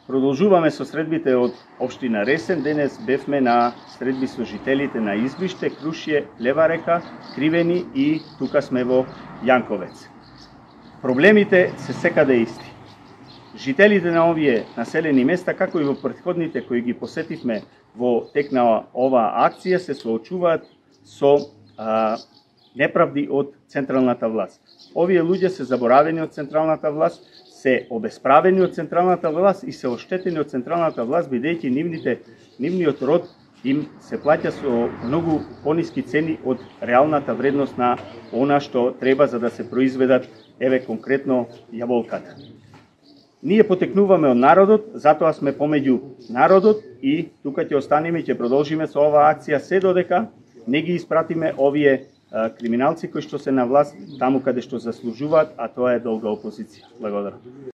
Продолжуваме со средбите од општина Ресен. Денес бевме на средби со жителите на Избиште, Крушје, Лева река, Кривени и тука сме во Јанковец. Проблемите се секаде исти. Жителите на овие населени места, како и во претходните кои ги посетивме во тек на оваа акција, се соочуваат со неправди од централната власт. Овие луѓе се заборавени од централната власт, се обесправени од централната власт и се оштетени од централната власт, бидејќи нивниот род им се плаќа со многу пониски цени од реалната вредност на она што треба за да се произведат, еве конкретно јаболката. Ние потекнуваме од народот, затоа сме помеѓу народот и тука ќе останеме и ќе продолжиме со оваа акција се додека не ги испратиме овие криминалци кои што се на власт таму каде што заслужуваат, а тоа е долга опозиција. Благодарам.